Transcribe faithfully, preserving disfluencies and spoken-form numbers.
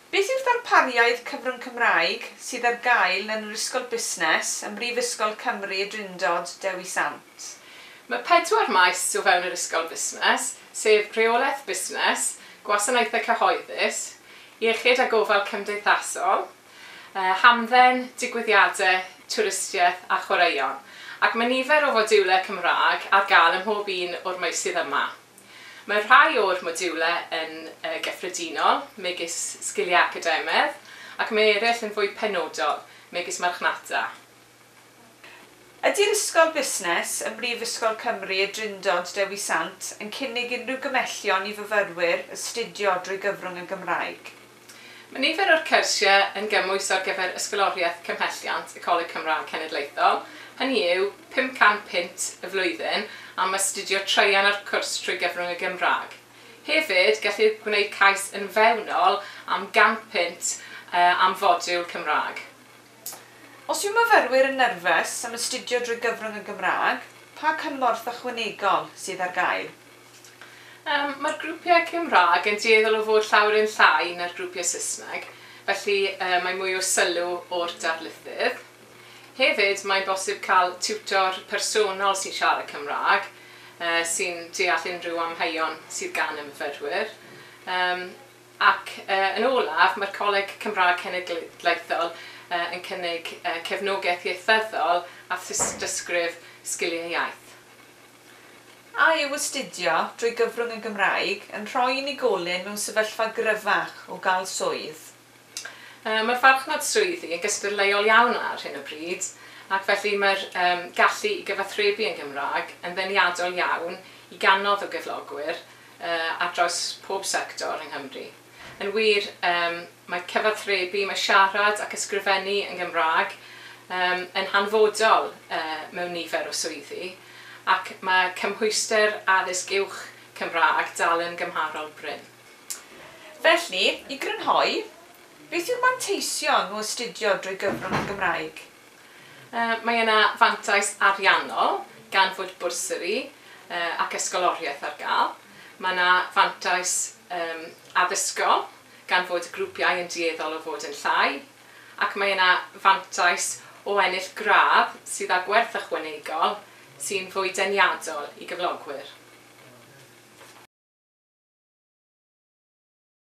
Beth yw'r ddarpariaeth cyfrwng Cymraeg sydd ar gael yn yr Ysgol Busnes ym Mhrifysgol Cymru Y Drindod Dewi Sant? Mae pedwar maes o fewn yr Ysgol Busnes, sef Rheolaeth Busnes, Gwasanaethau Cyhoeddus, Iechyd a Gofal Cymdeithasol, eh, Hamdden, Digwyddiadau, Twristiaeth a Chwaraeon. Ac mae nifer o fodiwlau Cymraeg ar gael ym mhob un o'r meysydd yma. Mae rhai o'r modiwlau yn uh, gyffredinol, megis sgiliau academaidd, ac mae eraill yn fwy penodol, megis marchnata. Ydy'r Ysgol Busnes ym Mhrifysgol Cymru Y Drindod Dewi Sant yn cynnig unrhyw gymhellion i fyfyrwyr astudio drwy gyfrwng y Gymraeg? Mae nifer o'r cyrsiau yn gymwys ar gyfer Ysgoloriaeth Cymhelliant y Coleg Cymraeg Cenedlaethol, hynny yw pum can punt y flwyddyn am astudio traean o'r cwrs trwy gyfrwng y Gymraeg. Hefyd, gellir gwneud cais yn fewnol am gan punt uh, am fodiwl Cymraeg. Os yw myfyrwyr yn nerfus am astudio drwy gyfrwng y Gymraeg, pa cymorth ychwanegol sydd ar gael? Um, Mae'r grwpiau Cymraeg yn dueddol o fod llawer yn llai na'r grwpiau Saesneg, felly uh, mae mwy o sylw o'r darlithydd. Hefyd, mae'n bosib cael tiwtor personol sy'n siarad Cymraeg, uh, sy'n deall unrhyw amheuon sydd gan y myfyrwyr. Um, ac uh, yn olaf, mae'r Coleg Cymraeg Cenedlaethol uh, yn cynnig uh, cefnogaeth ieithyddol a thystysgrif sgiliau iaith. A yw astudio drwy gyfrwng y Gymraeg yn rhoi unigolyn mewn sefyllfa gryfach o gael swydd? Uh, mae'r farchnad swyddi yn gystadleuol iawn ar hyn o bryd, ac felly mae'r um, gallu i gyfathrebu yn Gymraeg yn ddeniadol iawn i gannoedd o gyflogwyr uh, ar draws pob sector yng Nghymru. Yn wir, um, mae cyfathrebu, mae siarad ac ysgrifennu yn Gymraeg um, yn hanfodol uh, mewn nifer o swyddi, ac mae cymhwyster addysg uwch Cymraeg dal yn gymharol brin. Felly, i grynhoi, beth yw'r manteision o astudio drwy gyfrwng y Gymraeg? Uh, mae yna fantais ariannol gan fod bwrsari uh, ac ysgoloriaeth ar gael. Mae yna fantais um, addysgol gan fod y grwpiau yn dueddol o fod yn llai, ac mae yna fantais o ennill gradd sydd â gwerth ychwanegol sy'n fwy deniadol i gyflogwyr.